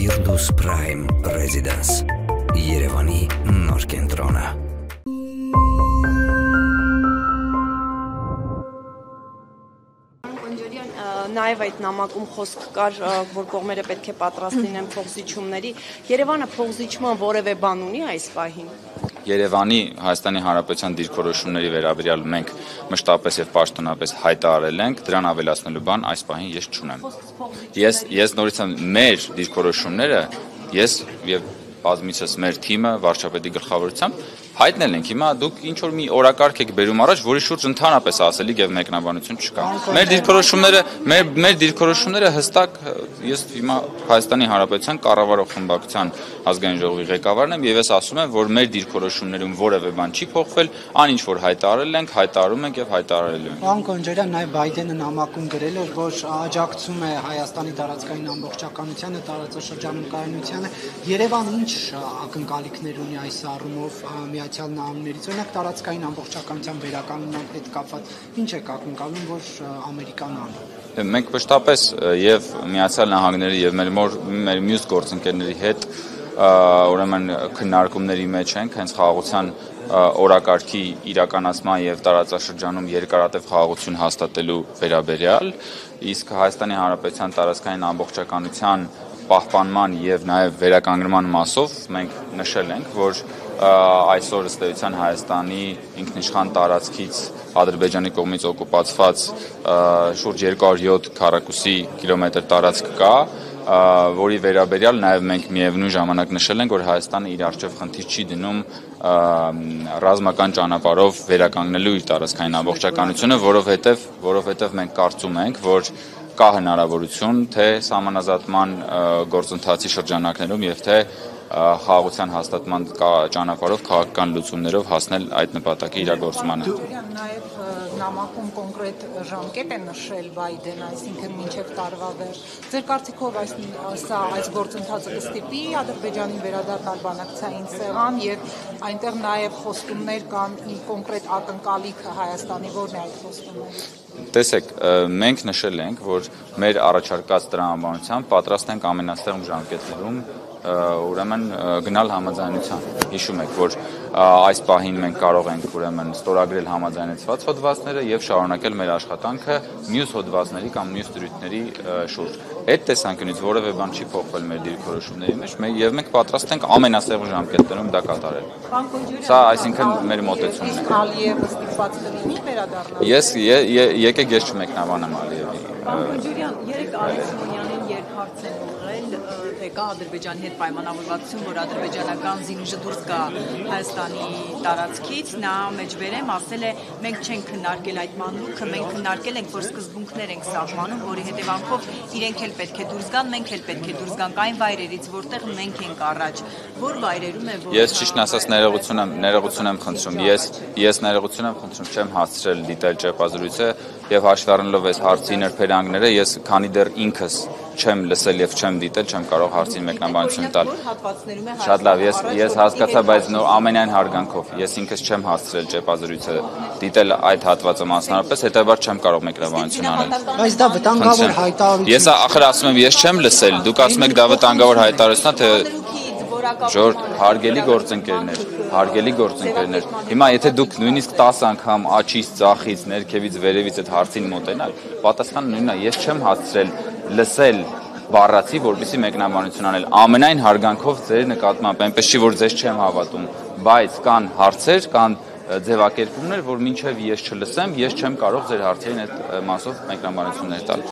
Firdaus Prime Residence Երևանի նոր կենտրոնը Նաև այդ նամակում խոսք կար, որ կողմերը պետք է պատրաստ լինեն փոխզիջումների։ Երևանը փոխզիջման որևէ բան ունի այս պահին։ Երևանի Հայաստանի Հանրապետության դիրքորոշումների վերաբերյալ մենք մշտապես եւ պաշտոնապես հայտարարել ենք, դրան ավելացնելու բան այս պահին ես չունեմ։ Ես նորից եմ մեր դիրքորոշումները, ես եւ բազմիցս մեր թիմը վարչապետի գլխավորությամբ հայտնել ենք, հիմա դուք ինչ որ մի օրակարգ եք բերում առաջ, որի շուրջ ընդհանրապես ասելիք եւ մեկնաբանություն չկա։ Մեր դիրքորոշումները հստակ, ես հիմա Հայաստանի Հանրապետության կառավարող խմբակցության ազգային ժողովի ղեկավարն եմ եւ ես ասում եմ, որ մեր դիրքորոշումներում որևէ բան չի փոխվել, ան ինչ որ հայտարարել ենք, հայտարարում ենք եւ հայտարարելու ենք։ Պարոն Կոնջարյան, նաեւ Բայդենը նամակում գրել էր, որ աջակցում է Հայաստանի տարածքային ամբողջականությանը, տարածաշրջանում կայունությանը։ Երևանը ինչ ակնկալիքներ ունի այս առումով Միացյալ Նահանգներից, օրինակ տարածքային ամբողջականության վերականգնման հետ կապված, ինչ եք ակնկալում, որ Ամերիկան անի։ Մենք մշտապես եւ Միացյալ Նահանգների եւ մեր մյուս գործընկերների հետ ուրեմն քննարկումների մեջ ենք հենց խաղաղության օրակարգի իրականացման եւ տարածաշրջանում երկարատև խաղաղություն հաստատելու վերաբերյալ, իսկ Հայաստանի Հանրապետության տարածքային ամբողջականության պահպանման եւ նաեւ վերականգնման մասով մենք նշել ենք, որ այսօր ըստ էության Հայաստանի ինքնիշխան տարածքից Ադրբեջանի կողմից օկուպացված շուրջ 207 քառակուսի կիլոմետր տարածք կա, որի վերաբերյալ նաև մենք միևնույն ժամանակ նշել ենք, որ Հայաստանը իր առջև խնդիր չի դնում ռազմական ճանապարհով վերականգնելու իր տարածքային ամբողջականությունը, որովհետև մենք կարծում ենք, որ կա հնարավորություն թե սահմանազատման գործընթացի շրջանակներում եւ թե խաղաղության հաստատման ճանապարհով քաղաքական լուծումներով հասնել այդ նպատակի իրագործմանը։ Նաև նամակում կոնկրետ ժամկետ է նշել Բայդեն, այսինքն մինչև տարվա վերջ։ Ձեր կարծիքով այս գործընթացը կստիպի Ադրբեջանին վերադառնալ բանակցային սեղան եւ այնտեղ նաև խոստումներ կան կոնկրետ ակնկալիքը Հայաստանի, որն է այդ խոստումները։ Տեսեք, մենք նշել ենք, որ մեր առաջարկած տրամաբանությամբ պատրաստ ենք ամենաստեղմ ժամկետներում ուրեմն գնալ համաձայնության։ Հիշում եք, որ այս պահին մենք կարող ենք ուրեմն ստորագրել համաձայնեցված հոդվածները եւ շարունակել մեր աշխատանքը մյուս հոդվածների կամ մյուս դրույթների շուրջ։ Այդ տեսանկյունից որևէ բան չի փոխվել մեր դիրքորոշումների մեջ, եւ մենք պատրաստ ենք ամենասեղմ ժամկետներում դա կատարել։ Սա այսինքն մեր մոտեցումն է։ Իսկ Ալիևը ստիպված կլինի վերադառնալ։ Եկեք ես չմեկնաբանեմ Ալիևի։ Ջուրյան, երեք Արեգ Սիմոնյանին երկհարց են ուղղել, թե կա Ադրբեջանի հետ պայմանավորվածություն, որ ադրբեջանական զինուժը դուրս գա Հայաստանի տարածքից, նա մեջբերեմ ասել է, մենք չենք քննարկել այդ մանրուքը, մենք քննարկել ենք, որ սկզբունքներ ենք սահմանում, որի հետևանքով իրենք էլ պետք է դուրս գան, մենք էլ պետք է դուրս գանք այն վայրերից, որտեղ մենք ենք առաջ, որ վայրերում է որ Ես ճիշտն ասած ներողություն եմ խնդրում, ես ներողություն եմ խնդրում, չեմ հասցրել դիտել ճեպազրույցը եւ հաշվի առնելով այս հարցի նրբերանգները, ես քանի դեռ ինքս չեմ լսել եւ չեմ դիտել, չեմ կարող հարցին մեկնաբանություն տալ։ Շատ լավ, ես հասկացա, բայց ամենայն հարգանքով ես ինքս չեմ հասցրել ճեպազրույցը դիտել այդ հատվածը մասնարարպես, հետեւաբար չեմ կարող մեկնաբանություն անել։ Բայց դա վտանգավոր հայտարարություն։ Ես ախր ասում եմ, ես չեմ լսել, դուք ասում եք դա վտանգավոր հայտարարություն է, թե Ժորժ, հարգելի գործընկերներ, հիմա եթե դուք նույնիսկ 10 անգամ աչից, ծախից, ներքևից, վերևից այդ հարցին մոտենալ, պատասխանը նույնն է, ես չեմ հասցրել լսել բառացի, որպեսզի մեկնաբանություն անել, ամենայն հարգանքով ձեր նկատմամբ, այնպես չի, որ ձեզ չեմ հավատում, բայց կան հարցեր, կան ձևակերպումներ, որ մինչև ես չլսեմ, ես չեմ կարող ձեր հարցերին այդ մասով մեկնաբանություններ տալ։